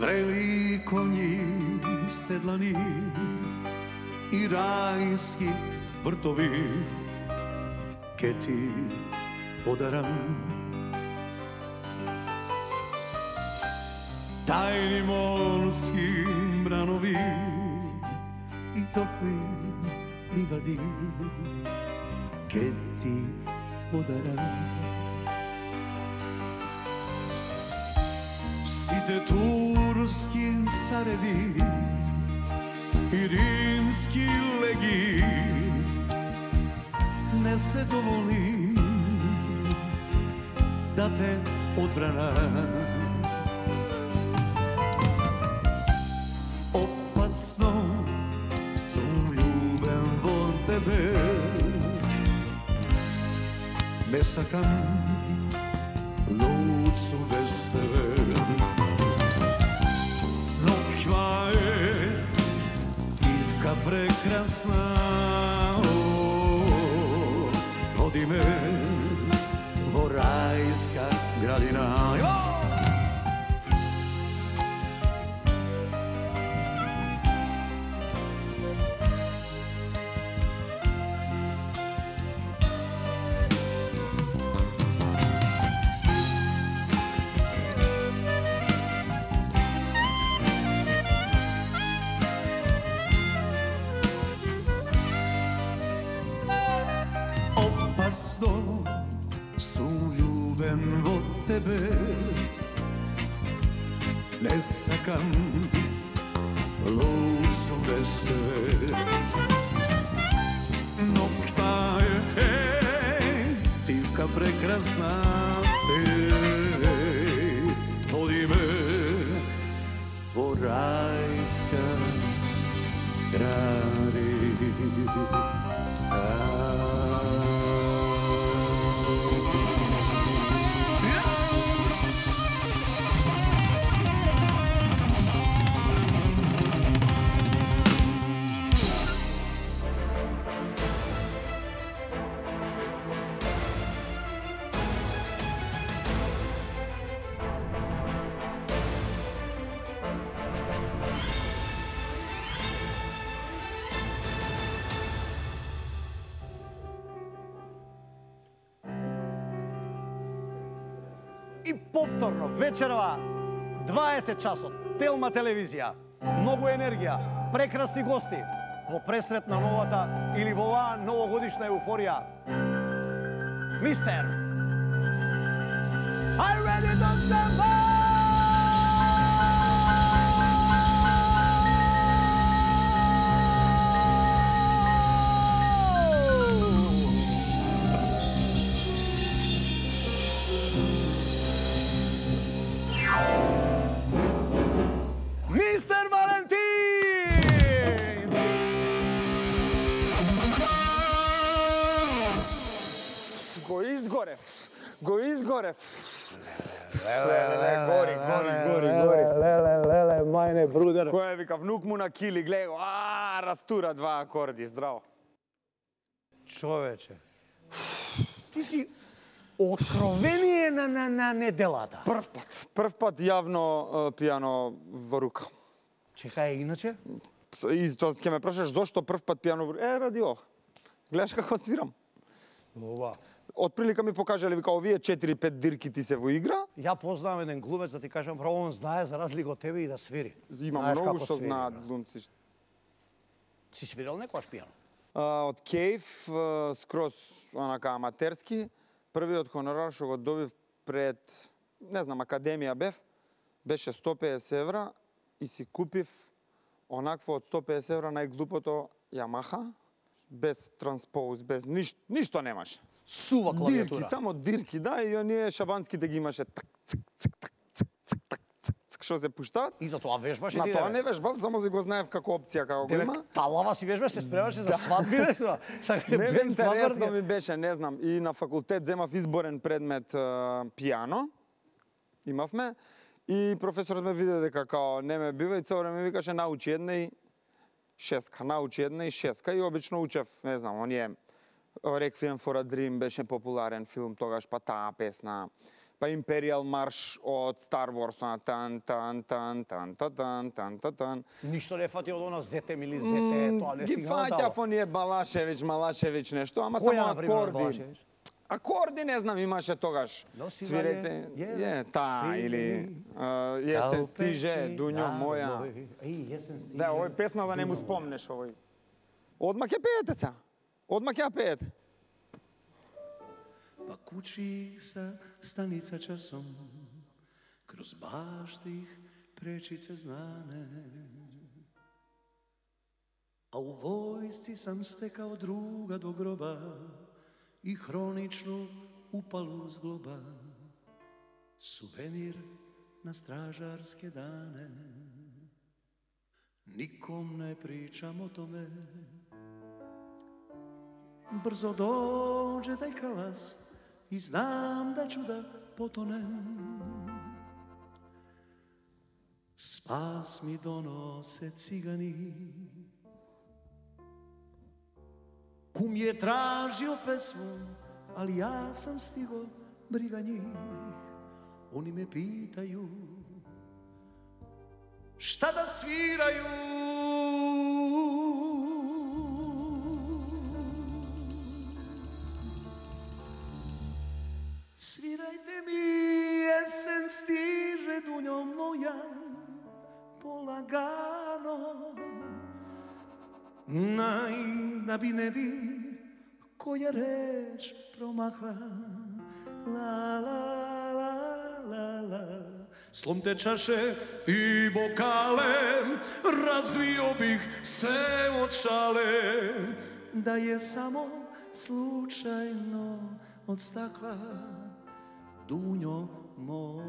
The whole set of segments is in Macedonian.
Врели коњи седлани и рајски вртови ке ти подарам. Тајни морски бранови и топли ливади ке ти подарам. Сите турски цареви и римски леги не се доволни да те одбранат. Опасно сум љубен во тебе, не сакам луд сум без тебе. Ноќва е дивка прекрасна, води ме во рајска градина. Опасно сум љубен во тебе, не сакам луд сум без тебе. Ноќва е дивка прекрасна, води ме во рајска градина. И повторно вечерва 20 часот, Телма телевизија, многу енергија, прекрасни гости во пресрет на новата или во оваа новогодишна еуфорија. Мистер, are you ready to stand by? Мистер Валентин! Го изгорев. Гори. Леле, мајне, брудер. Кој вика, внук му на кили, гледа го, растура два акорди, здраво. Човече, ти си откровение на неделата. Прв пат јавно пијано во рука. Чекај, иначе? И тоа ќе ме прашаш зошто прв пат пијано во рука? Ради ова. Гледаш како свирам. Ова. Од ми покажале, вика, овие 4-5 дирки ти се во игра. Ја познавам еден глумец, да ти кажам, право он знае за разлика од тебе и да свири. Има многу што знаат глумци. Си свирил некојаш пијано? Од Кејф, скроз онака аматерски. Првиот хонорар што го добив пред, не знам, академија бев, беше 150 евра и си купив онакво од 150 евра најглупото Ямаха, без транспоз, без ништо немаше. Сува клавиатура. Дирки, само дирки, да, и оние шабанските ги имаше так, цик, цик, так, цик, цик, так, цик, цик, што се пуштаат. И за тоа вежбаш и На ти? тоа не вежбав, само си го знаев како опција, како го има. Талава си вежбаш, се спремаше за свадби, нешто? Не, интересно ми беше, не знам, и на факултет земав изборен предмет пијано, имавме, и професорот ме виде дека као не ме бива и цело време ми викаше научи една и шеска, и обично учев, не знам, оние Requiem for a Dream беше популарен филм тогаш, па таа песна, па Imperial March од Star Wars, тан тан тан тан тан тан тан. Ништо не фати од она Зетем или Зете, тоа не Ги стигна фаќа фон е Балашевич нешто, ама Која, само например, акорди. Балашевич? Акорди не знам, имаше тогаш. Свирете, та или Јесен стиже, Дуњо моја. Јесен стиже. Да, овој песна да не му спомнеш овој. Одма ќе пеете се. Одма ќе пеете. Па кучи са станица часом, кроз башта их пречице знане. А у војсци сам стекао друга до гроба и хронично упалу зглоба. Сувенир на стражарске дане. Ником не причам о томе. Брзо доđe taj kalas i znam da ću da potonem. Spas mi donose cigani. Kum je tražio pesmu, ali ja sam stigo, briga njih. Oni me pitaju šta da sviraju. Svirajte mi, jesen stiže, Dunjo moja, polagano. Da bi ne bi koja reč promakla. La la la la la. Slomte čaše i bokale, razvio bih se od šale, da je samo slučajno od stakla. Dunjo moja.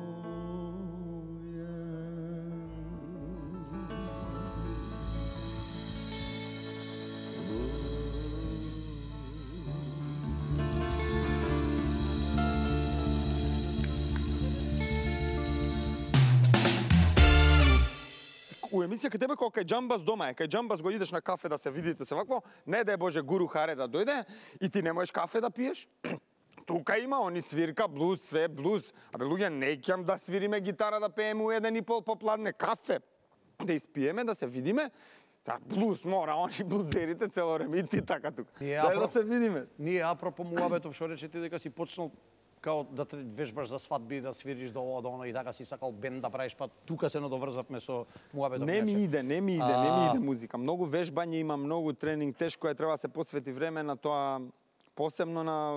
У емисија кај тебе кога кај Џамбас дома е, кај Џамбас го идеш на кафе да се видите се вакво, не да е Боже Гуру Харе да дојде и ти не можеш кафе да пиеш. Тука има, они свирка блуз, све блуз. Абе луѓе, не ќам да свириме гитара, да пееме у 1,5 попладне кафе. Да испиеме, да се видиме. Та блуз мора, они блузерите цело време и ти така тука. Да се видиме. Ние апропо муабетов што рече ти дека си почнал као да вежбаш за свадби, да свириш до ова, до оно и така си сакал бенд да правиш, па тука се надоврзавме со муабетов. Не ми иде музика. Многу вежбање има, многу тренинг, тешко е, треба да се посвети време на тоа, посебно на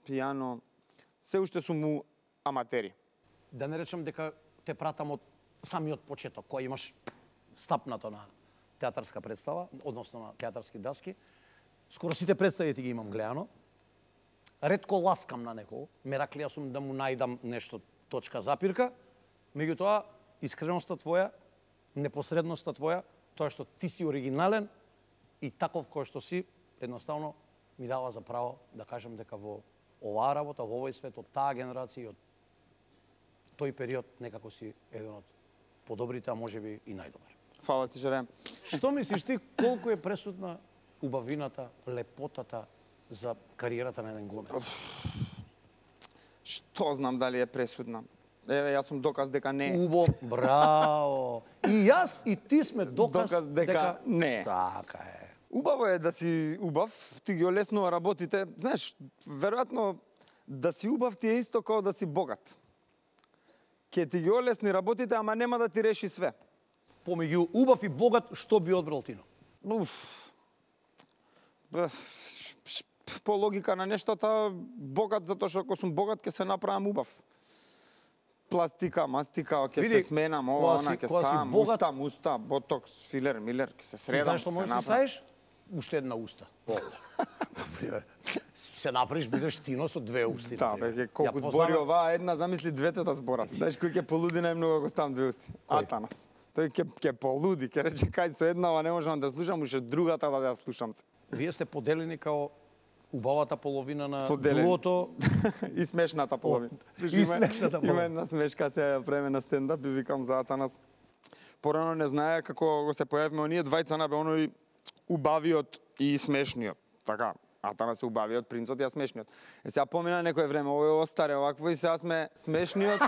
пијано. Се уште сум му аматери. Да не речам дека те пратам од самиот почеток, кој имаш стапнато на театарска представа, односно на театарски даски. Скоро сите представи ти ги имам гледано. Ретко ласкам на некој, мераклија сум да му најдам нешто точка запирка, меѓутоа искреноста твоја, непосредноста твоја, тоа што ти си оригинален и таков кој што си, едноставно ми дава за право да кажам дека во оваа работа, во овој свет, од таа генерација и од тој период некако си еден од подобрите, а можеби и најдобар. Фала ти, Жере. Што мислиш ти, колку е пресудна убавината, лепотата за кариерата на еден глумец? Што знам дали е пресудна. Еве, јас сум доказ дека не. Браво! И јас и ти сме доказ дека не. Така е. Убаво е да си убав, ти ги олеснува работите. Знаеш, веројатно да си убав ти е исто како да си богат. Ке ти ги олесни работите, ама нема да ти реши све. Помеѓу убав и богат, што би одбрал Тино? По логика на нештата, богат, затоа што ако сум богат, ќе се направам убав. Пластика, мастика, ќе се сменам, ова, она, ќе ставам, уста, ботокс, филер, милер, ќе се средам. Знаеш што можеш да ставиш? Уште една уста. Например, се направиш, бидеш Тино со две усти. Да, бе, колку збори оваа една, замисли двете да зборат. Знаеш кој ќе полуди најмногу ако ставам две усти? Атанас. Тој ќе полуди, ќе рече кај со еднава не можам да слушам, уште другата да ја слушам се. Вие сте поделени као убавата половина на дуото и смешната половина. И смешната половина. Има една смешка се време на стендап и викам за Атанас. Порано не знае како го се појавиме оние двајца на бе оној убавиот и смешниот. Така, Атана се убавиот, принцот, ја смешниот. Сега помина некое време, овој остаре овакво и сега сме смешниот.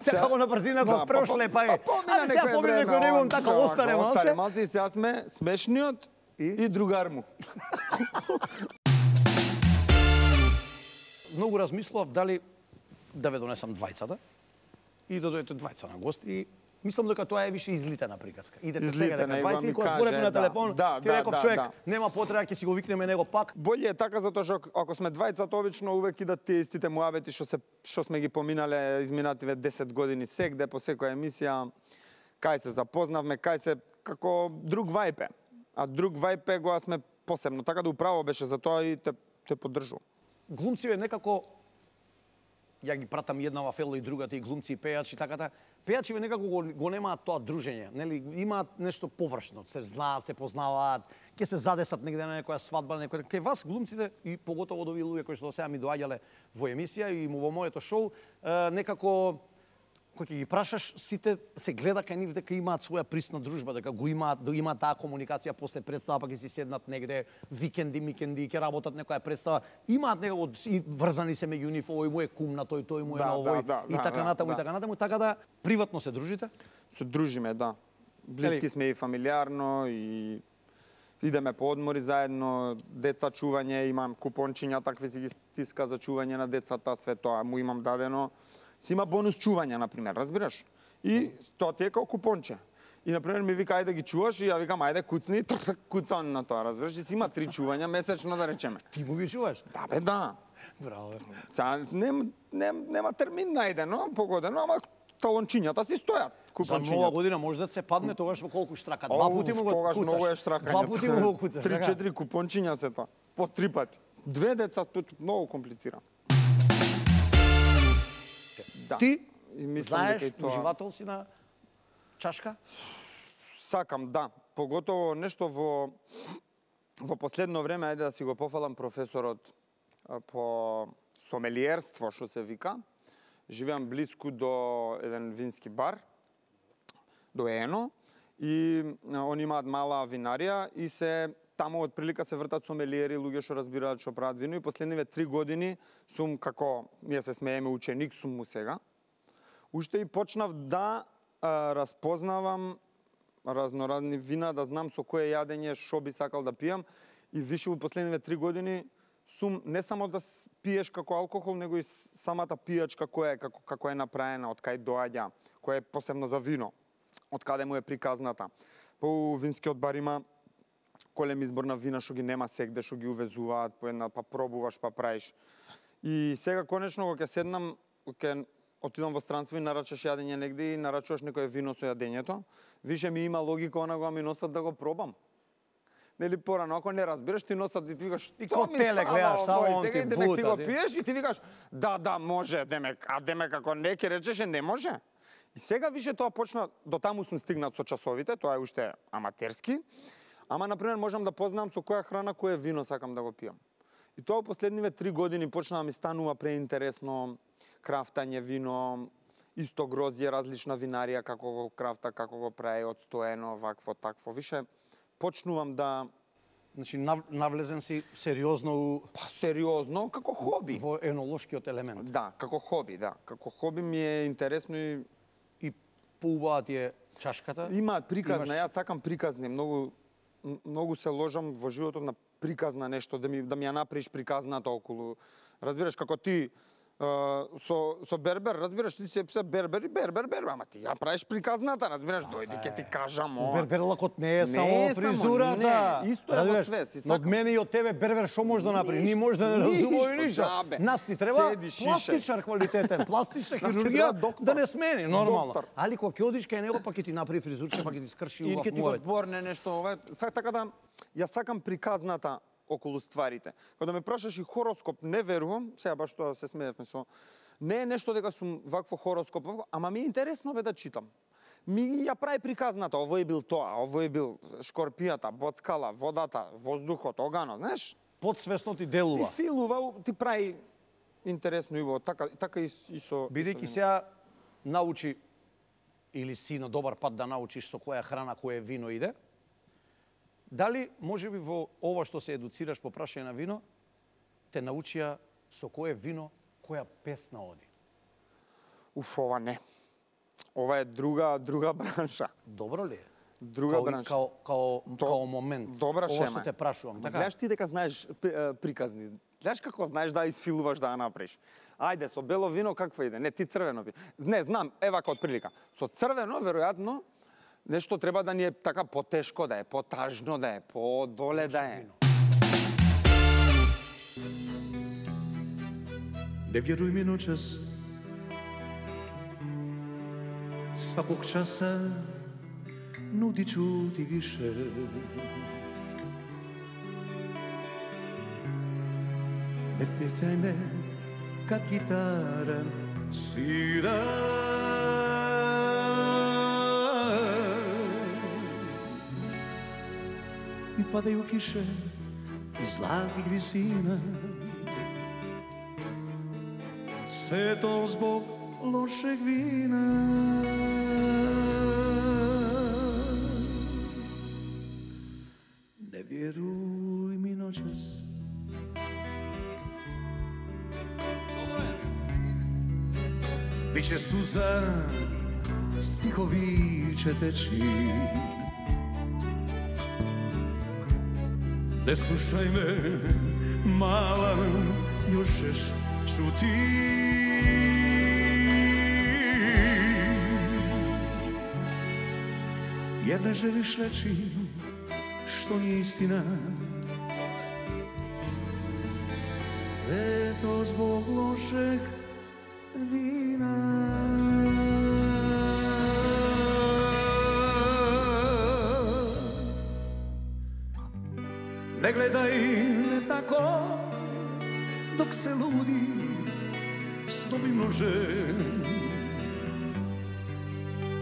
Сега како на брзина го прошле, па е. Помина сега помина некој време, така остаре малце. Малце и сега сме смешниот и другар му. Многу размислував дали да ве донесам двајцата и да дојдете двајца на гост и мислам дека тоа е више излитена приказка. Идете сега дека двајца и кога збореме на телефон, ти реков човек, нема потреба, ќе си го викнеме него пак. Боле е така затоа што ако сме двајцата обично увек идат тие истите муабети што сме ги поминале изминативе 10 години сегде по секоја емисија, кај се запознавме, кај се како друг вајп е. А друг вајп е кога сме посебно. Така да управо беше за тоа и те поддржувам. Глумци некако ја ги пратам еднава фело и другата и глумци и пејачи таката. Пејачи некако го немаат тоа дружење, нели? Имаат нешто површно, се знаат, се познаваат, ќе се задесат негде на некоја свадба, на некој. Кај вас глумците и поготово од овие луѓе кои што сега ми доаѓале во емисија и во моето шоу, некако кога ќе ги прашаш, сите се гледа кај нив дека имаат своја присна дружба, дека го имаат таа комуникација после представа, па ќе си седнат негде викенди, микенди, ќе работат некоја представа. Имаат некако и врзани се меѓу нив, овој му е кум на тој му е на овој и така натаму, така да приватно се дружите? Се дружиме, да. Блиски сме и фамилиарно и идеме по одмори заедно, деца чување, имам купончиња, такви си ги стиска за чување на децата, све тоа му имам дадено. Си има бонус чување, например, разбираш? И тоа ти е како купонче. И, например, ми вика, ајде ги чуваш, и ја викам, ајде куцни, куцан на тоа, разбираш? И си има 3 чувања месечно, да речеме. Ти му ги чуваш? Да, бе, да. Браво. Нема термин најдено, погодено, ама талончињата си стојат. За нова година може да се падне тогаш во колку штрака? 2 пати му го куцаш. Тогаш многу е штракање. 2 пати му го куцаш. 3-4 купончиња се тоа. По 3 пати. 2 деца, многу комплицирано. Да. Ти знаеш, уживател си на чашка? Сакам, да. Поготово нешто во последно време, ајде да си го пофалам професорот по сомелиерство, што се вика. Живеам близко до еден вински бар, до Ено, и они имаат мала винарија и таму од прилика се вртат сомелиери, луѓе што разбираат што прават вино и последниве 3 години сум како, ние се смееме, ученик сум му сега. Уште и почнав да разпознавам разноразни вина, да знам со кое јадење што би сакал да пијам и више во последниве 3 години сум не само да пиеш како алкохол, него и самата пијачка како е направена, од кај доаѓа, која е посебно за вино, од каде му е приказната. По винскиот бар има голем избор на вина што ги нема сегде, што ги увезуваат по една, па пробуваш, па правиш. И сега конечно кога ќе седнам, ќе отидам во странство и нарачаш јадење негде и нарачуваш некое вино со јадењето, више ми има логика она кога ми носат да го пробам. Нели порано, ако не разбираш, ти носат и ти викаш, и ко теле гледаш, само он ти бута. Ти го пиеш и ти викаш, да, може, демек ако не ќе речеше не може. И сега више тоа почна, до таму сум стигнат со часовите, тоа е уште аматерски. Ама, например, можам да познам со која храна, кое вино сакам да го пијам. И тоа последниве 3 години почна да ми станува преинтересно, крафтање вино, исто грозје, различна винарија, како го крафта, како го прави, одстоено, вакво, такво. Више, почнувам да... Значи, навлезен си сериозно... Па, сериозно, како хоби. Во енолошкиот елемент. Да, како хоби, да. Како хоби ми е интересно и... И поубава ти е чашката? Имаат приказна, јас сакам приказни, многу се ложам во животот на приказна нешто, да ми ја направиш приказната околу. Разбираш, како ти со бербер, разбираш, ти се бербер, ама ти ја правиш приказната, разбираш, дојди ќе ти кажам. Берберлакот не е само фризурата. Исто е во све. Од мене и од тебе бербер што може да направи? Ни може да не разумеме ништо. Нас ни треба пластичар квалитетен, пластична хирургија да не смени, нормално. Али кога ќе одиш кај него, па ќе ти направи фризурче, па ќе ти скрши убав муавет. И ќе ти го зборне нешто, ова. Така да, ја сакам приказната околу стварите. Кога ме прашаш и хороскоп, не верувам, сега баш тоа се смеевме со... Не е нешто дека сум вакво хороскоп, ама ми е интересно бе да читам. Ми ја прави приказната, овој бил тоа, овој бил шкорпијата, боцкала, водата, воздухот, оганот, знаеш? Подсвесно ти делува. Ти филува, ти прави интересно и така и со... Бидејќи сега научи или си на добар пат да научиш со која храна, кое вино иде, Дали можеби во ова што се едуцираш по прашање на вино, те научија со кое вино, која песна оди? Уф, ова не. Ова е друга бранша. Добро ли е? Друга бранша. Као момент. Добра шема. Ова што те прашувам, така? Гледаш ти дека знаеш приказни. Гледаш како знаеш да изфилуваш да ја направиш. Ајде, со бело вино какво иде? Не, ти црвено вино. Не, знам, евака од прилика. Со црвено, веројатно, нешто треба да ни е така потешко, да е потажно, да е подоле, да е. Не вјеруј ми ночас, сваког часа нуди чути више. Не питај ме кад гитара свира. И падају кише из златих висина. Сето због лошег вина. Не вјеруј ми ночас. Биче суза, стихови ќе течи. Не слушај ме, мала, јошеш чути. Jer ne želiš reći što nije istina. Sve to zbog lošeg vina. Ne gledaj me tako dok se ludi s tobim nožem.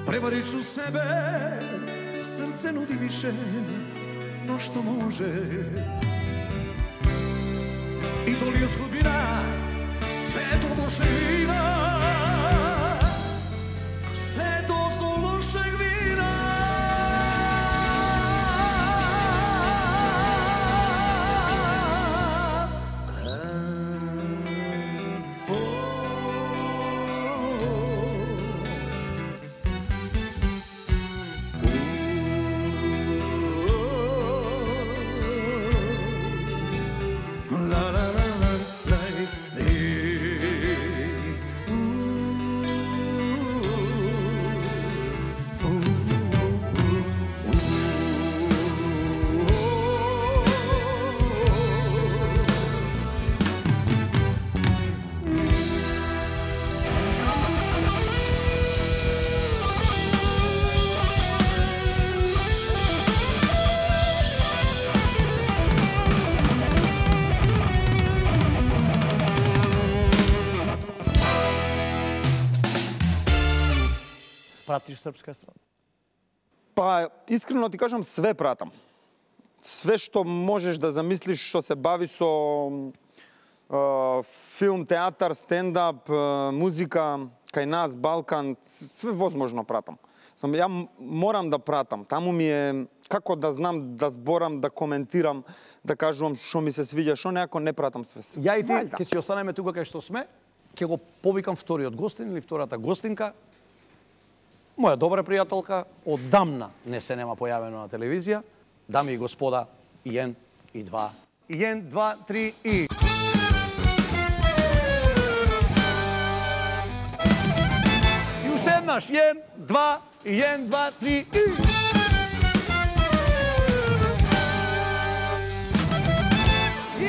Prevarit ću sebe, srce nudi više no što može. I to li je sudbina, sve to loše vina. Sve to su lošeg vina. Пратиш српска естрада? Па, искрено ти кажам, све пратам. Све што можеш да замислиш, што се бави со филм, театар, стендап, музика, кај нас, Балкан, све возможно пратам. Само ја морам да пратам. Таму ми е како да знам, да зборам, да коментирам, да кажувам што ми се свиѓа, што некако не пратам све. Ја и ти, ќе си останеме тука кај што сме, ќе го повикам вториот гостин или втората гостинка. Моја добра пријателка, одамна не се нема појавено на телевизија. Дами и господа, 1 и 2. 1, 2, 3 и... И уште еднаш, 1, 2, 1, 2, 3 и...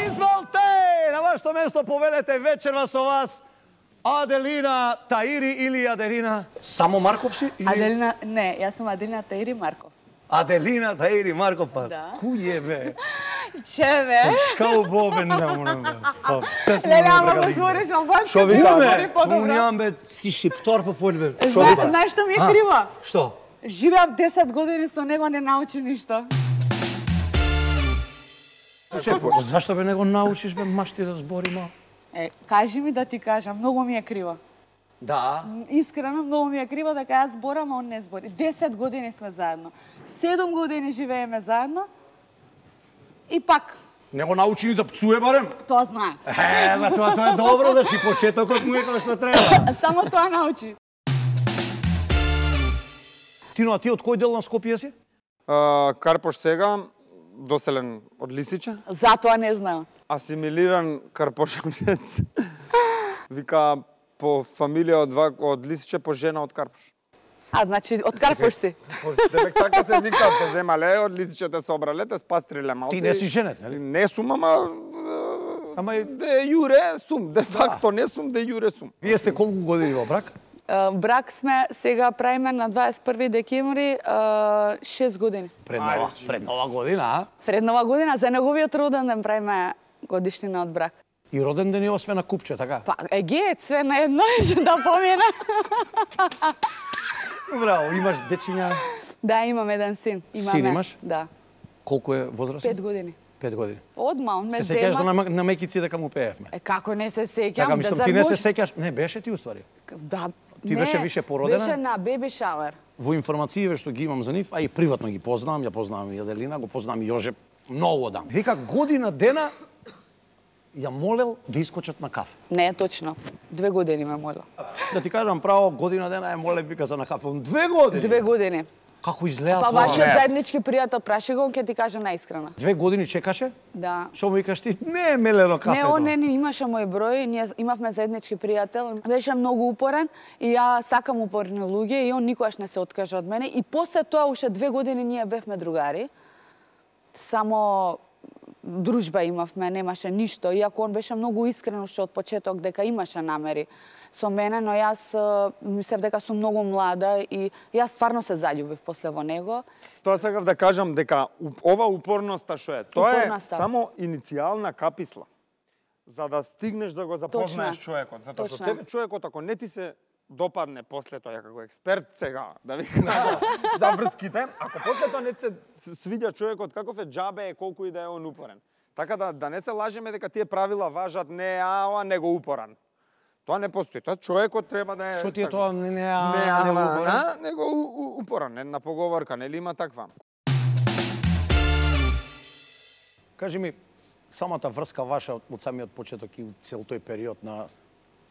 Изволте! На вашето место повелете вечерва со вас Аделина Таири или Аделина само Марков си? Или... Аделина, не, јас сум Аделина Таири Марков. Аделина Таири Марков, па Да. кој е бе? Че бе? Шкао бобен не морам бе. Па се сме Леле, ама добра го кади. збориш албански, Шо ти вика го бе? збори подобро. Унјам бе си шиптор по фоли бе. Шо вика? Знаеш што ми е криво? Што? Живеам 10 години со него, не научи ништо. Слушај, зашто бе не го научиш бе машти да збори ма? Кажи ми да ти кажам, многу ми е криво. Да. Искрено, многу ми е криво дека јас зборам, а он не збори. 10 години сме заедно. 7 години живееме заедно И пак, Не го научи ни да пцуе барем. тоа знае. Тоа е добро да си почетокот му е како што треба. Само тоа научи. Тино, а ти од кој дел на Скопје си? Карпош сега, доселен од Лисиче. Затоа не знаам. Асимилиран карпошанец. Вика по фамилија од Лисиче, по жена од Карпош. А, значи, од Карпош си. Девек така се вика, те земале, од Лисиче те собрале, те спастриле малце. Ти не си женет, нели? Не сум, ама де јуре сум, де факто не сум, де јуре сум. Вие сте колку години во брак? Брак сме, сега правиме на 21 декември 6 години. Пред нова година, а? Пред нова година, за неговиот роден ден правиме годишнина од брак. И роден ден е освен на купче, така? Па, све на едно да помине. Браво, имаш дечиња? Да, имам еден син. Син имаш? Да. Колку е возрастен? 5 години. 5 години. Одма, он ме Се зема. сеќаш на мекици дека му пеевме? Како не се сеќам? Така, мислам, ти не се сеќаш? Не, беше ти уствари. Да. Ти беше више породена? Беше на беби шауер. Во информациите што ги имам за нив, а и приватно ги познавам, ја познавам и Аделина, го познавам и Јожеп многу дам. Вика, година дена ја молел да искочат на кафе. Не е точно. 2 години ме молел. Да ти кажам право, година дена ја молел вика за на кафе. 2 години? 2 години. Како изгледа Па тоа? вашиот заеднички пријател праши го, ќе ти кажа наискрено. 2 години чекаше? Да. Што му викаш ти? Не е мелено кафето. Не, он не имаше мој број, ние имавме заеднички пријател. Беше многу упорен и ја сакам упорни луѓе и он никогаш не се откажа од мене. И после тоа уште 2 години ние бевме другари. Само дружба имавме, немаше ништо. Иако он беше многу искрен уште од почеток дека имаше намери со мене, но јас мислев дека сум многу млада и јас стварно се заљубив после во него. Тоа сакав да кажам дека ова упорноста што е, тоа Упорноста. е само иницијална каписла за да стигнеш да го запознаеш Точно. човекот, затоа што Точно. тебе човекот ако не ти се допадне после тоа, ја како експерт сега, да викам за врските, ако после тоа не се свиѓа човекот каков е, џабе е колку и да е он упорен. Така да не се лажеме дека тие правила важат не ова него упоран. Тоа не постои. Тоа човекот треба да е... Што ти е тоа? Не, него упоран, една поговорка, нели има таква. Кажи ми, самата врска ваша од самиот почеток и цел тој период на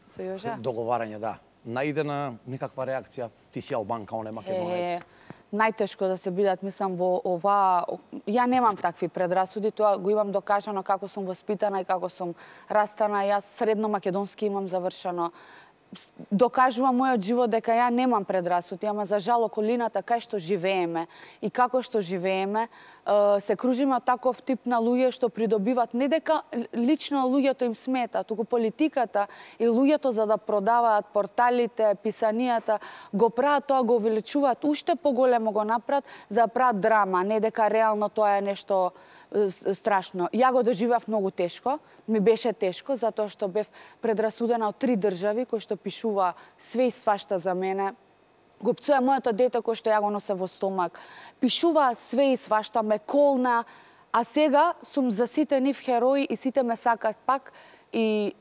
Со Јожа? договарање, да. Наиде на некаква реакција, ти си албанка, он е македонец. Најтешко да се бидат, мислам, во ова... Ја немам такви предрасуди, тоа го имам докажано како сум воспитана и како сум растана. Јас средно македонски имам завршено. Докажува мојот живот дека ја немам предрасуди, ама за жал околината кај што живееме и како што живееме, се кружиме од таков тип на луѓе што придобиват не дека лично луѓето им смета, туку политиката и луѓето за да продаваат порталите, писанијата, го прават тоа, го увеличуваат уште поголемо го направат за да прават драма, не дека реално тоа е нешто страшно. Ја го доживав многу тешко, ми беше тешко, затоа што бев предрасудена од 3 држави кои што пишува све и свашта за мене. Го пцуја моето дете кој што ја го носе во стомак. Пишува све и свашта, ме колна, а сега сум за сите нив херои и сите ме сакат пак и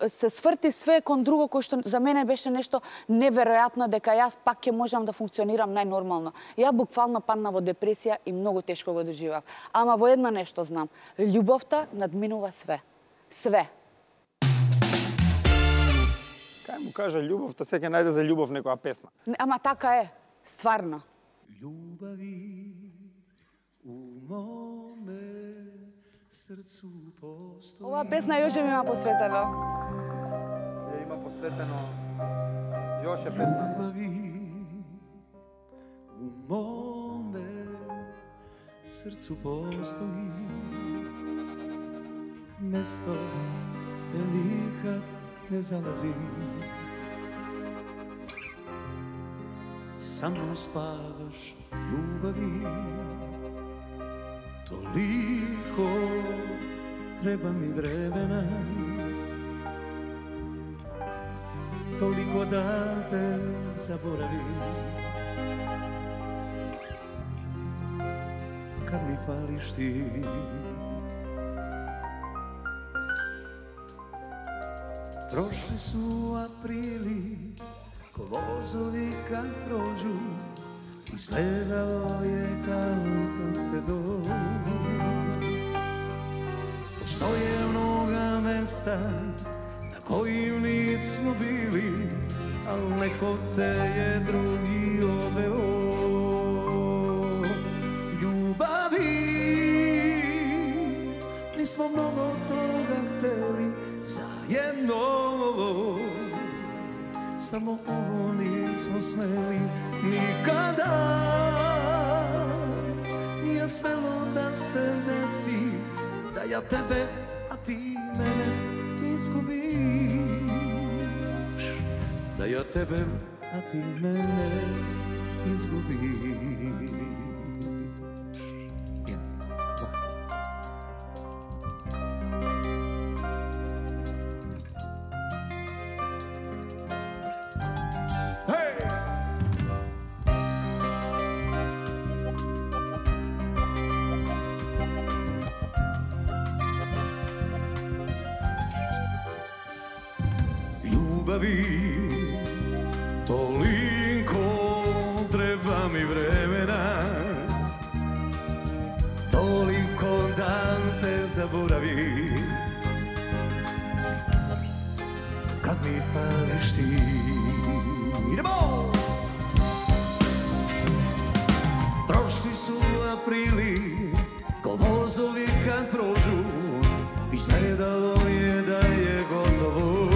се сврти све кон друго кој што за мене беше нешто неверојатно дека јас пак ќе можам да функционирам најнормално. Ја буквално падна во депресија и многу тешко го доживав. Ама во едно нешто знам, љубовта надминува све. Све. Кај му кажа љубовта, се ќе најде за љубов некоја песна. Ама така е, стварно. Љубави у моме срцу постои. Ова песна Јоже ми има посветена. Ја има посветено Јоше песна. Љубави у моме срцу постои. Место де никад не залази. Sa mnom spavaš ljubavi, toliko treba mi vremena, toliko da te zaboravim. Kad mi fališ ti, prošli su aprili, ko vozovi kad prođu, izgledao je kao da te dođu. Postoje mnoga mesta na kojim nismo bili, al neko te je drugi odveo. Ljubavi, nismo mnogo toga hteli zajedno, samo ovo nismo smeli nikada. Nije smelo da se desi da ja tebe, a ti mene izgubiš. Da ja tebe, a ti mene izgubiš. Toliko treba mi vremena, toliko da te zaboravim, kad mi fališ ti. Idemo! Prošli su aprili, ko vozovi kad prođu, izgledalo je da je gotovo.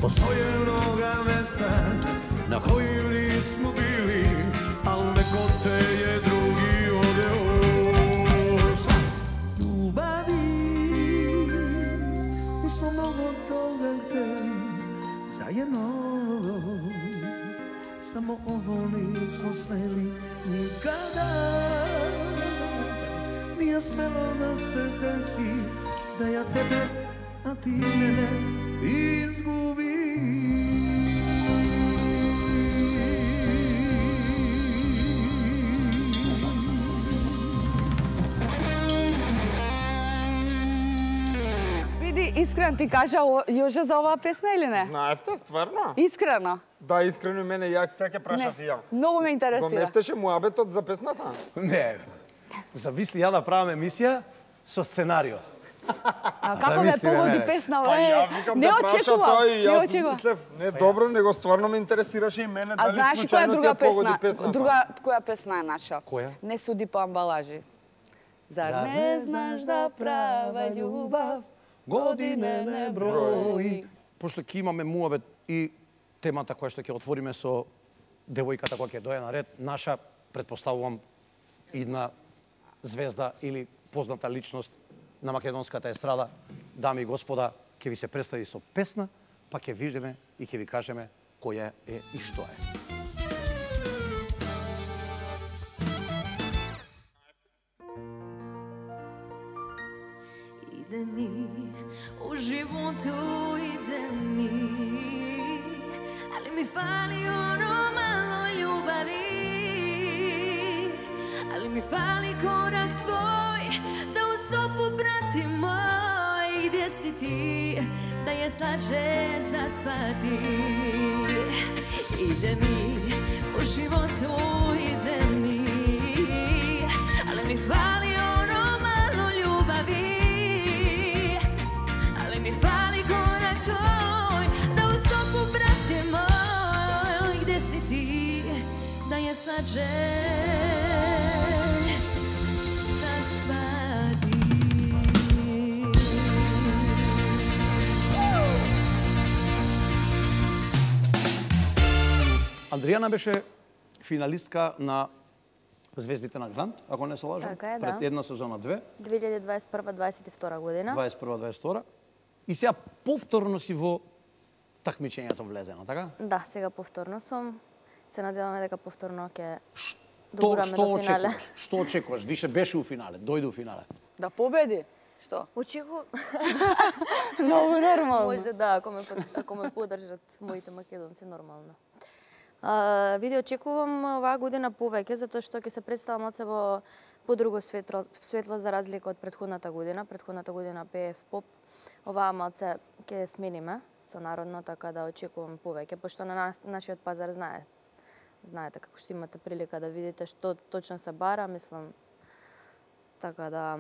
Postoje mnoga mesta na kojim nismo bili, al neko te je drugi odveo. Ljubavi, nismo mnogo toga hteli zajedno, samo ovo nismo smeli nikada. Nije smelo da se desi da ja tebe, a ti mene izgubi. Види, искрен ти кажа Јоже за оваа песна или не? Знаевте, стварно? Искрено? Да, искрено мене ја сега прашав и ја. Многу ме интересира. Го местеше муабетот за песната? Не, зависли ја да правам емисија со сценарио. А како ме погоди песна, Па ја викам не да праша очекувам, тој, не јас очекувам. мислев, не добро, него стварно ме интересираше и мене А дали знаеш која е случајно друга ти ја погоди песна? песната. Друга која песна е наша? Која? Не суди по амбалажи. Зар не знаш да права љубав године не брои? Пошто ќе имаме муабет и темата која што ќе отвориме со девојката која ќе дојде на ред, наша, претпоставувам, идна звезда или позната личност на македонската естрада, дами и господа, ќе ви се представи со песна, па ќе видиме и ќе ви кажеме која е и што е. Иде ми, у животу иде ми, али ми фали оно мало љубави, али ми фали корак твој, да усопу брати мој, где си ти, да ја слаче заспати. Иде ми, у животу иде ми, али ми фали оно мало љубави, али ми фали корак твој, да усопу брате мој, где си ти, да ја слаче Андријана беше финалистка на Звездите на Грант, ако не се лажам, Така е, да. пред една сезона 2, 2021-2022 година. 21-22. И сега повторно си во такмичењето влезено, така? Да, сега повторно сум. Се надеваме дека повторно ќе Што догураме до финале. очекуваш? Што очекуваш? Више беше у финале, дојде у финале. Да победи? Што? Очекувам, Многу нормално. може да, ако ме поддржат моите македонци, нормално. Види, очекувам оваа година повеќе, затоа што ќе се представам од себе по друго светло за разлика од претходната година. Претходната година пеев поп, оваа малце ќе смениме со народно, така да очекувам повеќе, пошто на нашиот пазар знаете како што имате прилика да видите што точно се бара, мислам, така да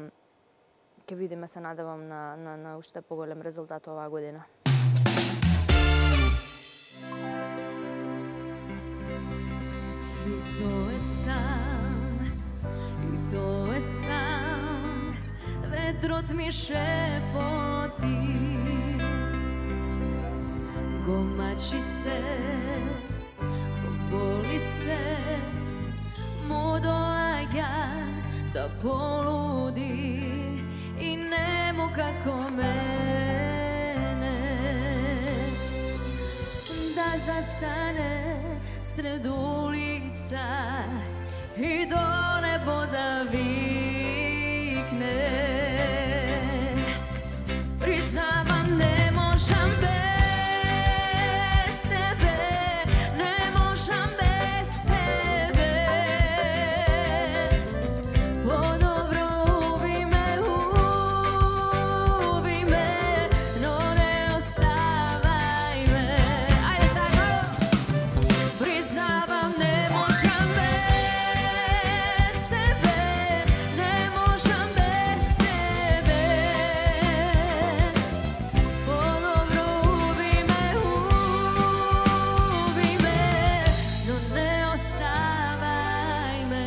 ќе видиме, се надевам на уште поголем резултат оваа година. И тоа е сам, и тоа е сам, ветрот ми шепоти, го мачи се, го боли се, му доаѓа да полуди и нему како мене, да засане сред улица и до небо да викне. Признавам, не можам без себе, не можам без себе. По-добро уби ме, но не оставај ме. Ајде сега! Признавам, не можам без себе, не можам без себе. По-добро уби ме, но не оставај ме.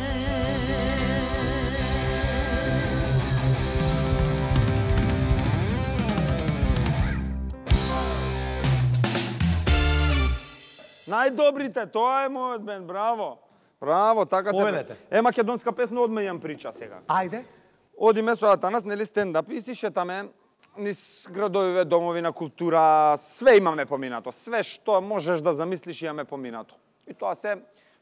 Најдобрите, тоа е мојот бенд, браво. Браво, така се. Повелете. Македонска песна, одме јам прича сега. Ајде. Одиме со Атанас, нели стендап и си шетаме низ градовиве, домови на култура, све имаме поминато, све што можеш да замислиш имаме поминато. И тоа се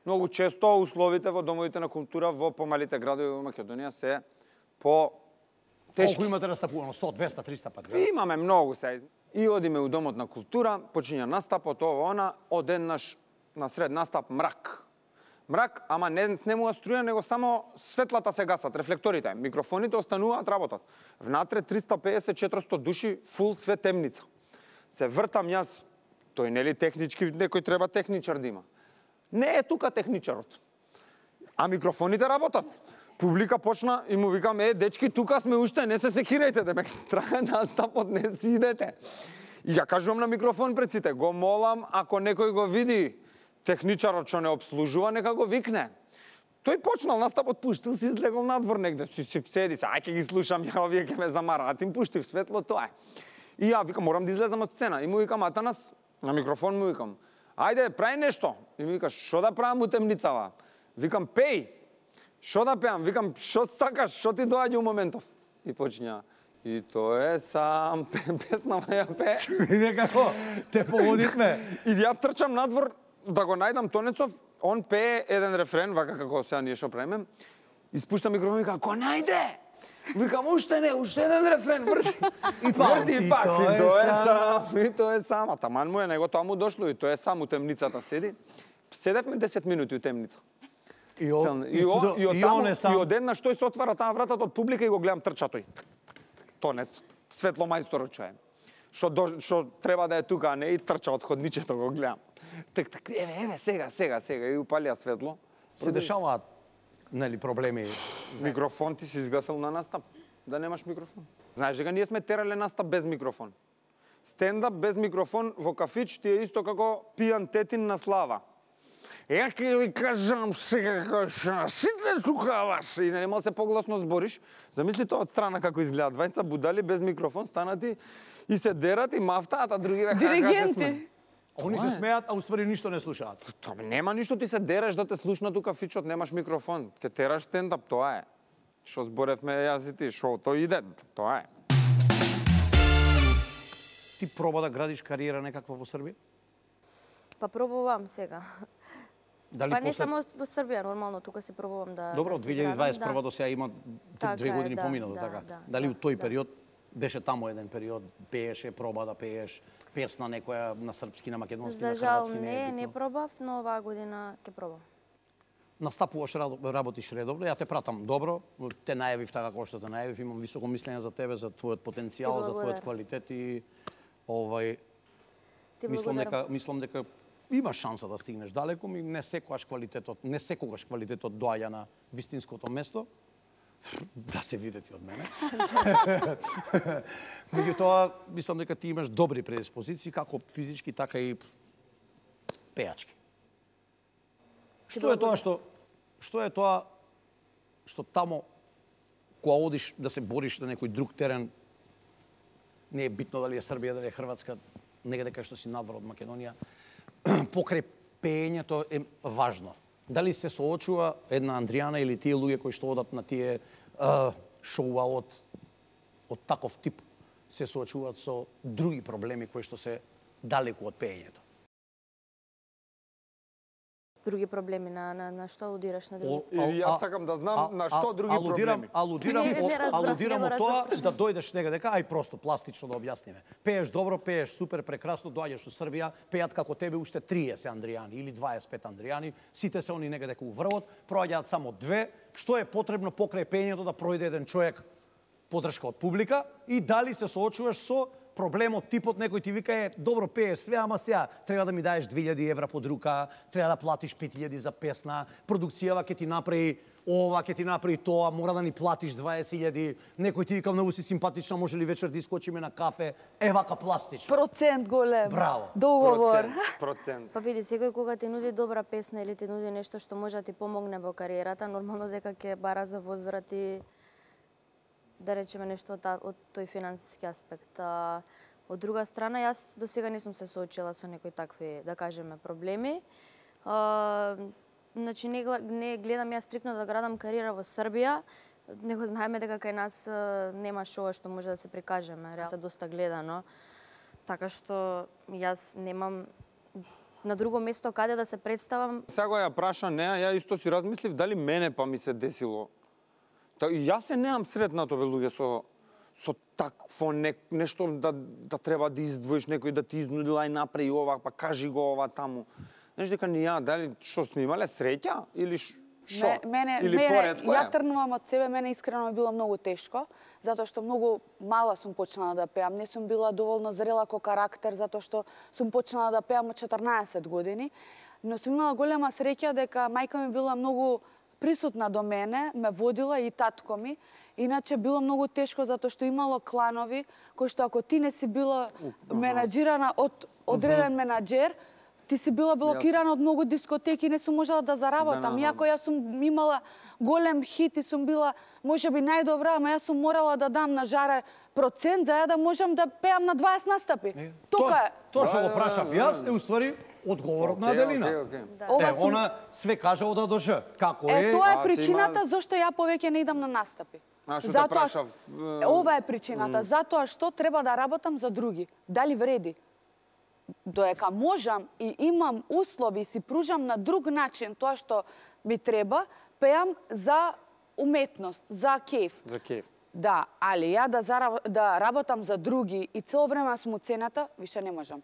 многу често условите во домовите на култура во помалите градови во Македонија се по тешки. Колку имате настапувано? 100, 200, 300 пати? Имаме многу се. И одиме у домот на култура, почиња настапот, ова она, одеднаш на сред настап мрак. Мрак, ама не снемува струја, него само светлата се гасат, рефлекторите, микрофоните остануваат, работат. Внатре 350-400 души, фул све темница. Се вртам јас, тој нели технички, некој треба техничар да има. Не е тука техничарот. А микрофоните работат. Публика почна и му викам, дечки, тука сме уште, не се секирајте, да ме трае настапот, не си идете. И ја кажувам на микрофон пред сите, го молам, ако некој го види техничарот што не обслужува, нека го викне. Тој почнал настапот, пуштил си, излегол надвор негде, си седи се, ај ќе ги слушам, ја овие ќе ме замараат, им пуштив светло, тоа е. И ја викам, морам да излезам од сцена. И му викам, Атанас, на микрофон му викам, ајде, прај нешто. И ми вика, шо да правам у темницава? Викам, пеј. Шо да пеам? Викам, шо сакаш, шо ти доаѓа у моментов? И почиња, и тоа е сам, песна ја пе. Виде како, те погодивме. И ја трчам надвор да го најдам Тонецов, он пее еден рефрен, вака како сега ние шо правиме. Испушта микрофон и вика, ко најде? Викам, уште не, уште еден рефрен, врти. И пак, и тоа е сам, и тоа е сам. А таман му е, него тоа му дошло, и тоа е сам у темницата седи. Седевме 10 минути у темница. И одеднаш тој се отвара таа вратата од публика и го гледам трча тој. Тонец, светло мајсторот чуе. Што треба да е тука, а не и трча од ходничето го гледам. Еве, сега и упалија светло. Се дешаваат нели проблеми. Микрофон ти си изгасил на настап, да немаш микрофон. Знаеш дека ние сме терале настап без микрофон. Стендап без микрофон во кафич ти е исто како пијан тетин на слава. Ја ќе ви кажам сега како сите тука вас и не може се погласно збориш. Замисли тоа од страна како изгледа. Двајца будали без микрофон станати и се дерат и мафтаат, а други веќе Диригенти. Они се смеат, а уствари ништо не слушаат. Тоа нема ништо, ти се дереш да те слушна тука фичот, немаш микрофон. Ке тераш стендап, тоа е. Што зборевме јас и ти, шоуто иде, тоа е. Ти проба да градиш кариера некаква во Србија? Па пробувам сега. Дали Па не само во Србија, нормално тука се пробувам да. Добро, од да се градам, 2021 до сега има 2 години поминато, така. Дали у тој период беше таму еден период, пееше, проба да пееш, песна некоја на српски, на македонски, За на жал хрватски, не пробав, но оваа година ќе пробам. Настапуваш, работиш редовно, ја те пратам добро, те најавив така како што те најавив, имам високо мислење за тебе, за твојот потенцијал, за твојот квалитет и мислам дека имаш шанса да стигнеш далеку, не секогаш квалитетот доаѓа на вистинското место. да се видите од мене. Меѓутоа, мислам дека ти имаш добри предиспозиции, како физички, така и пејачки. Што е тоа што тамо, кога одиш да се бориш на некој друг терен, не е битно дали е Србија, дали е Хрватска, негде кај што си надвор од Македонија, покрај пеењето е важно. Дали се соочува една Андријана или тие луѓе кои што одат на тие шоуа од таков тип, се соочуваат со други проблеми кои што се далеку од пеењето? Други проблеми на што алудираш на други? Или јас сакам да знам на што други проблеми. Алудирам од тоа да дојдеш негде дека ај просто пластично да објасниме. Пееш добро, пееш супер, прекрасно, доаѓаш во Србија, пеат како тебе уште 30 Андријани или 25 Андријани, сите се они негде дека у врвот, проаѓаат само 2. Што е потребно покрај пеењето да пројде еден човек подршка од публика и дали се соочуваш со проблемот, типот, некој ти вика добро пееш све, ама сега треба да ми даеш 2000 евра под рука, треба да платиш 5000 за песна, продукцијава ќе ти направи ова, ќе ти направи тоа, мора да ни платиш 20000, некој ти вика многу си симпатична, може ли вечер да искочиме на кафе, вака пластично. Процент голем. Браво. Договор. Процент. Па види, секој кога ти нуди добра песна или ти нуди нешто што може да ти помогне во кариерата, нормално дека ќе бара за возврат и да речеме нешто од тој финансиски аспект. Од друга страна, јас до сега не сум се соочила со некои такви, да кажеме, проблеми. Значи, не гледам јас стрикно да градам кариера во Србија, него знаеме дека кај нас нема шоу што може да се прикажеме, реално се доста гледано. Така што јас немам на друго место каде да се представам. Сега ја праша неа, ја исто си размислив дали мене па ми се десило. И јас се неам сретнато бе луѓе со такво нешто да треба да издвоиш некој да ти изнудила и направи ова, па кажи го ова таму. Знаеш дека не ја, дали што сме имале среќа или што? Или поретко ја тргнувам од себе, мене искрено ми било многу тешко, затоа што многу мала сум почнала да пеам, не сум била доволно зрела ко карактер, затоа што сум почнала да пеам од 14 години, но сум имала голема среќа дека мајка ми била многу присутна до мене, ме водила и татко ми. Иначе било многу тешко затоа што имало кланови кои што ако ти не си била менаџирана од одреден менаџер, ти си била блокирана од многу дискотеки и не сум можела да заработам. Иако јас сум имала голем хит и сум била можеби најдобра, ама јас сум морала да дам на жаре процент за да можам да пеам на 20 настапи. Тука е. Тоа што го прашав јас е уствари одговорот на Аделина. Она све кажа од А до Ж. Како е? Тоа е причината зашто ја повеќе не идам на настапи. Затоа ова е причината, затоа што треба да работам за други. Дали вреди? Доека можам и имам услови и си пружам на друг начин тоа што ми треба, пеам за уметност, за кеф. За кеф. Да, али ја да работам за други и цело време сум уцената, више не можам.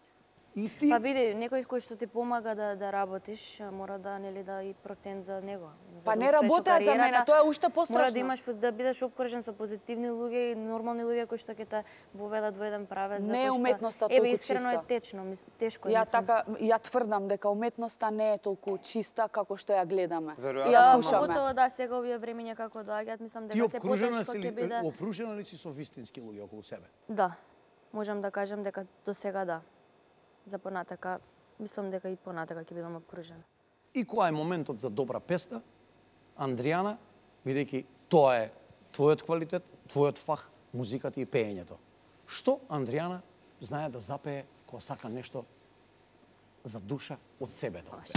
Па види, некој кој што ти помага да работиш, мора да и процент за него. Па не работеа за мене, тоа е уште пострашно. Мора да имаш да бидеш обкружен со позитивни луѓе и нормални луѓе кои што ќе те воведат во еден правец. Не е уметноста толку чиста. Еве искрено е тешко. Ја тврдам дека уметноста не е толку чиста како што ја гледаме. Поготово да, сега овие времиња како доаѓаат, мислам дека се потешко ќе биде. Ти опружена ли си со вистински луѓе околу себе? Да. Можам да кажам дека до сега да. За понатака, мислам дека и понатака ќе бидам обкружена. И кој е моментот за добра песна, Андријана, бидејќи тоа е твојот квалитет, твојот фах, музиката и пеењето. Што Андријана знае да запее кога сака нешто за душа од себе да пее?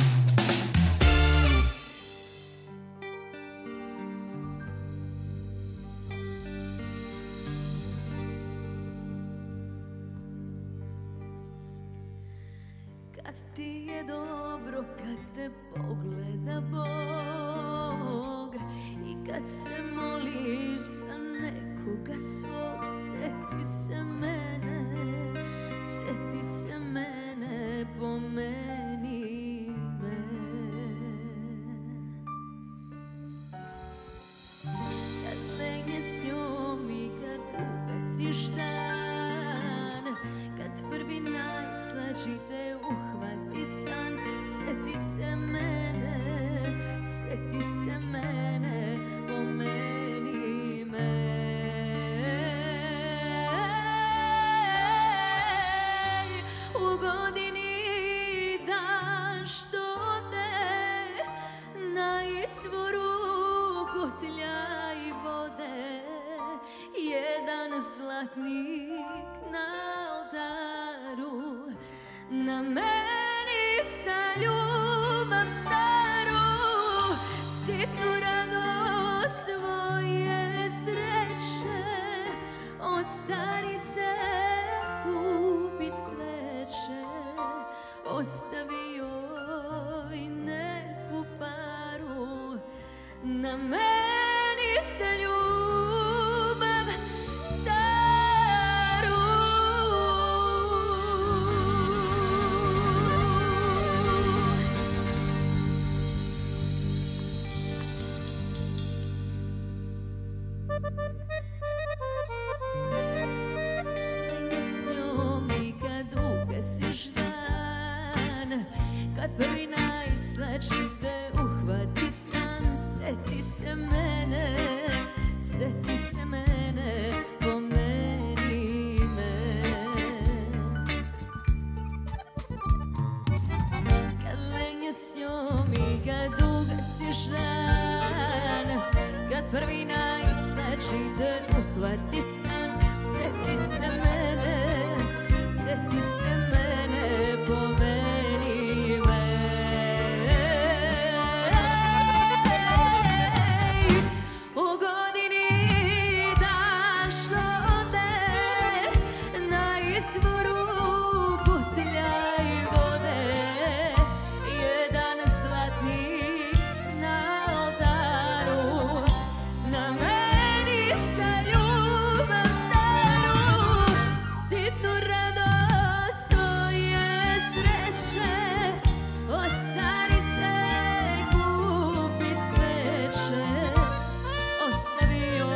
Kad ti je dobro, kad te pogleda Bog i kad se moliš za nekoga svog, seti se mene, pomeni me. Kad legne s njom i kad ugasiš dan, kad prvi najslađi te uhvati san, seti se mene, pomeni zlatnik na oltaru, na meni sa ljubav staru, sitnu radost svoje sreće, od starice kupit sveće, ostavio i neku paru, na meni sa ljubav staru. Gasiš dan, kad prvi najslađi te uhvati san, seti se mene, pomeni me. Kad lenje s njom i kad ugasiš dan, kad prvi najslađi te uhvati san, seti se mene, pomeni me. U godini dan što ode, na izvoru butelja i vode, jedan zlatnik na oltaru, na meni sa ljubav staru, sitnu radost svoje sreće, od starice kupit sveće, ostavio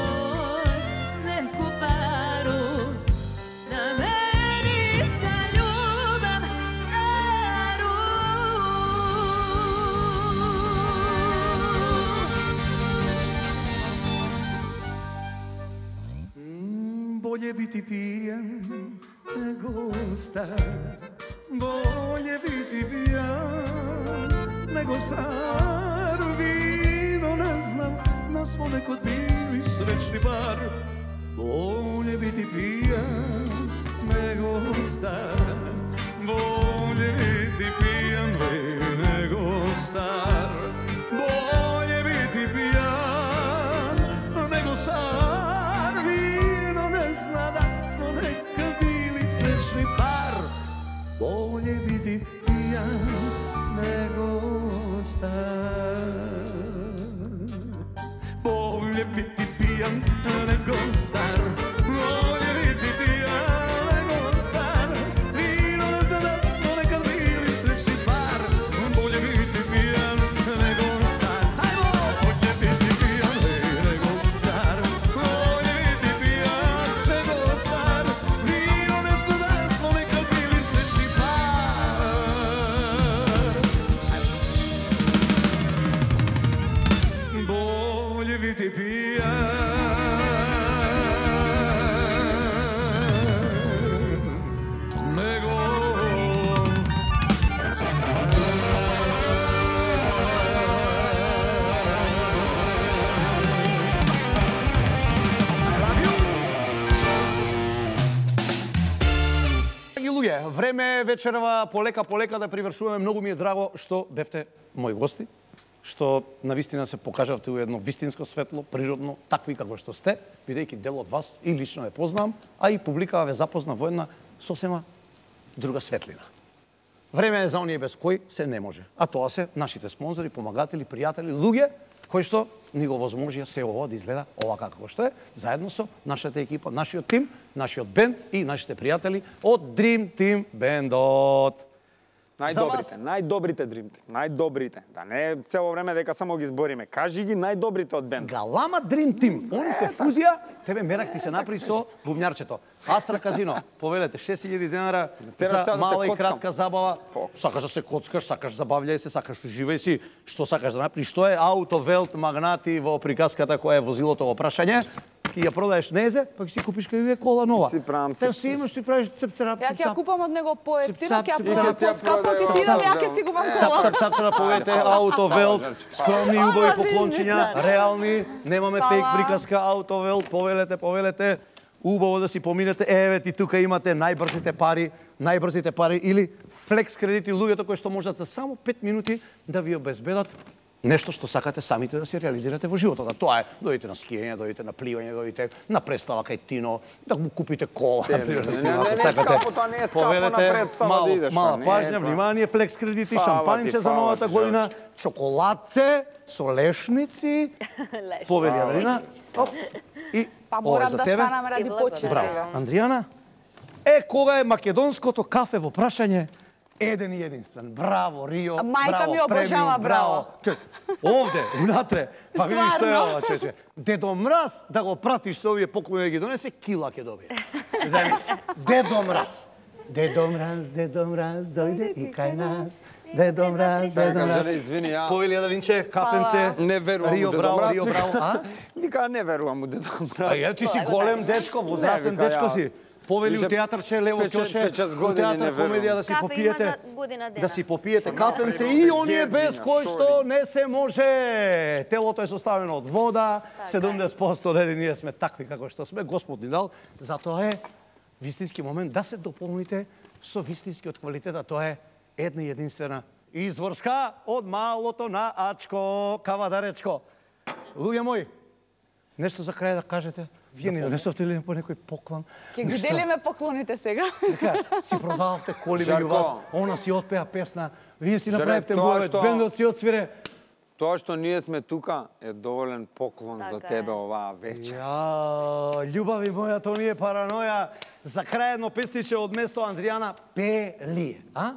neku paru, na meni sa ljubav staru. Bolje biti pijan nego star, bolje biti pijan nego star. Vino ne znam, da smo nekad bili srećni par. Bolje biti pijan nego star, bolje biti pijan nego star. Bolje biti pijan nego star. Vino ne zna da smo nekad bili srećni par. Bolje biti pijan nego star. Bolje biti pijan nego star. Bolje biti pijan nego star. Vino ne zna da smo nekad bili srećni par. Bolje biti pijan nego star. Ajmo! Bolje biti pijan nego star. Bolje biti pijan nego star. Vino ne zna da smo nekad bili srećni par. Bolje biti pijan nego star. I love you. Драги луѓе, време е вечерва полека да привршуваме. Многу ми е драго што бевте мои гости, што навистина се покажавте у едно вистинско светло, природно, такви како што сте, бидејќи дел од вас и лично ве познавам, а и публикава ве запозна во една сосема друга светлина. Време е за оние без кои се не може. А тоа се нашите спонзори, помагатели, пријатели, луѓе кои што ни го возможија се ово да изгледа ова како што е, заедно со нашата екипа, нашиот тим, нашиот бенд и нашите пријатели од Dream Team бендот. Најдобрите Dream Team, најдобрите. Да не цело време дека само ги избориме. Кажи ги најдобрите од бенд. Галама Dream Team. Они се фузија, тебе мерак ти се напри со бубњарчето. Астра казино, повелете 6000 денара за мала и кратка забава. Сакаш да се коцкаш, сакаш забављај се, сакаш уживај си, што сакаш да направиш. Што е Автовелт магнати во приказката која е возилото во прашање? Ки ја продаеш незе, па ќе си купиш кај кола нова. Си правам Те си имаш, си правиш цеп-цап. Ја ќе ја купам од него поевтино, ќе ја цеп, продам цеп, поскапо, ќе си идам, ја ќе си купам кола. Цап-цап на повете, Автовелт, скромни убави поклончиња, реални, немаме фейк приказка, Автовелт, повелете. убаво да си поминете, еве ти тука имате најбрзите пари или флекс кредити, луѓето кои што можат за само 5 минути да ви обезбедат нешто што сакате самите да се реализирате во животот. Тоа е, дојдете на скијање, дојдете на пливање, дојдете на представа кај Тино, да му купите кола, например, не скапо, тоа не е скапо на представа да идеш. Мала пажња, внимание, флекс кредити, шампанче за новата година, чоколадце со лешници, повели Адрина. И Па ова е морам за да тебе. станам ради почет Браво. сега. Андријана, кога е македонското кафе во прашање, еден и единствен. Браво, Рио. Мајка браво, ми обожава, премиум, браво. Овде, унатре. Па видиш што е Стварно? ова, чече. Дедо Мраз, да го пратиш со овие поклони да ги донесе, кила ќе добие. Замисли. Дедо Мраз. Дедо Мраз, дојде и кај нас. Дедо Мраз. Извини, ја Повели Адалинче, кафенце. не верувам Рио, у Дедо браво, Мраз. Рио, браво. А? Вика, не верувам у Дедо Мраз. Ти си голем дечко, возрастен Не, вика, дечко ја- си. Повели у Више, театарче Лево Ќоше, 5-6 у години не театар верувам. комедија да си Кафе има попиете, за година дена. да си попиете Што кафенце направи, и оние гезиња, без кои што шоли. не се може. Телото е составено од вода, 70% леди ние сме такви како што сме, Господ ни дал. Затоа е вистински момент да се дополните со вистинскиот квалитет, а тоа е една и единствена изворска од малото на Ачко, Кавадаречко. Луѓе мои, нешто за крај да кажете? Вие не донесовте ли по некој поклон? Ќе ги делиме поклоните сега. Така, си продававте коли меѓу Жарко. вас, она си отпеа песна, вие си Жаре, направивте тоа муавет, што- бендот си отсвире. Тоа што ние сме тука е доволен поклон за Така тебе е. оваа вечер. Љубави моја, тоа не е параноја. За крај едно песниче од место Андријана Пели, а?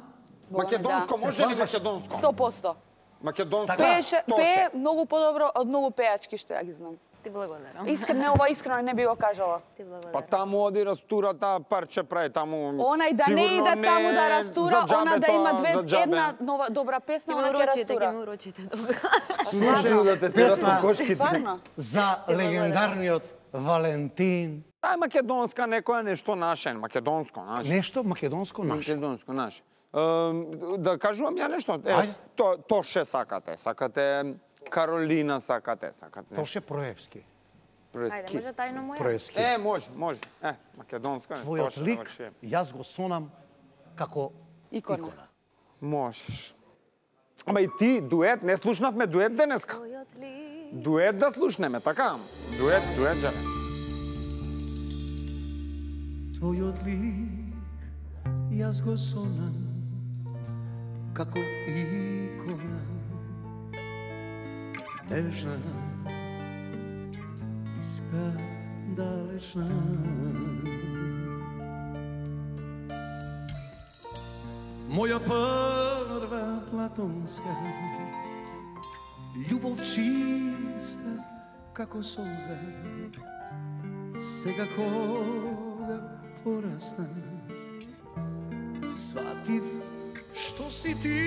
Македонско, Да. може ли слажеш? македонско? 100%. Македонско. Пее Тоше. многу подобро од многу пеачки што ја ги знам. Ти благодарам. Искрено, ова искрено не би го кажала. Ти благодарам. Па таму оди растура таа парче прави таму. Онај да не сигурно иде таму да растура, за она да џабе има тоа, за џабе. една нова добра песна, Ти она ме ќе урочите, растура. ги ме урочите добро. Слушај, да те терат песна по кошките. Стварно? за легендарниот Валентин. Таа е македонска, некоја нешто наше, македонско, наше. Нешто македонско наше. Македонско, наше. Да кажувам ја нешто. Ајде. Тоше сакате Каролина сакате. Тоше Проевски. Ајде, може тајно моја? Проевски. Може. Македонска. Твојот Тоше, лик, врши. јас го сонам како Икона. икона. Можеш. Ама и ти, дует, не слушнавме дует денеска. Твојот ли. Дует да слушнеме, така? Дует, жаре. Твојот лик јас го сонам како икона нежна и скандалечна. Моја прва платонска љубов чиста како солза. Сега кога пораснав, сватив што си ти.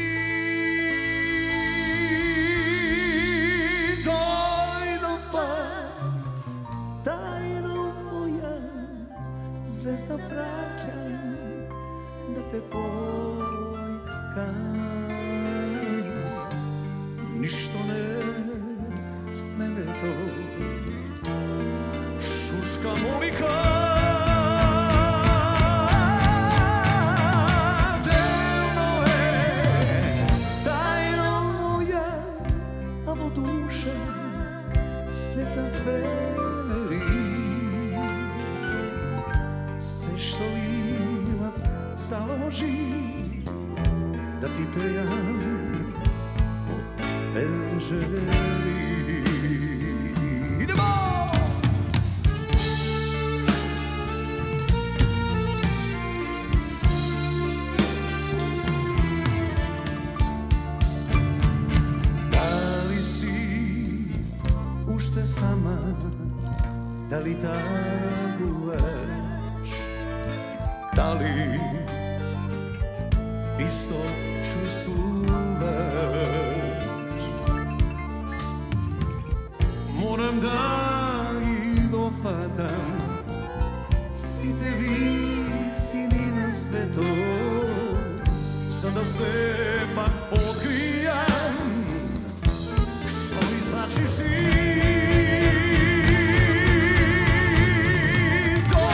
Дојдов пак, тајно моја звезда праќам да те појкам. Ништо не смето, шушка Моника. Делно е, тајно моја, а во душа светот венери. Се што имам заложи да ти пејам под пенжери. Идемо! Дали си уште сама, дали тагуваш, дали исто чувствуваш? Морам да ги дофатам сите висини на светот, за да сепак откријам што ми значиш ти. Дојдов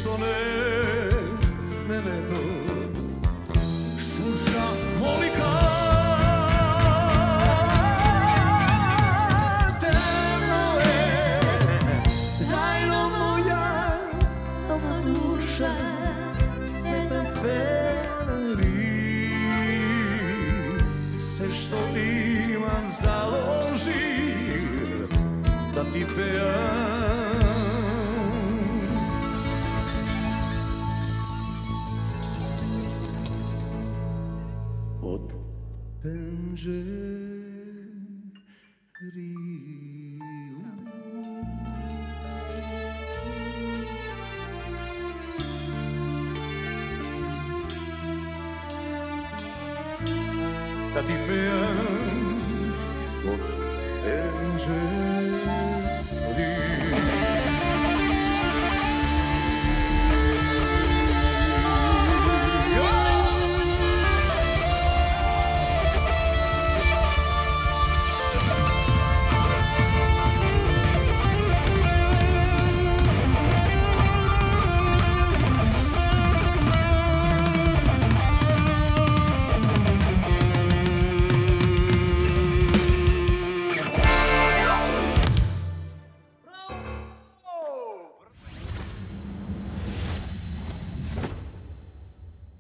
што не смелето шушка молика темно е зајно моја нова душа светен фенери се што имам заложи да ти пеам од тенџерiju. Da ti peam od tенџерiju.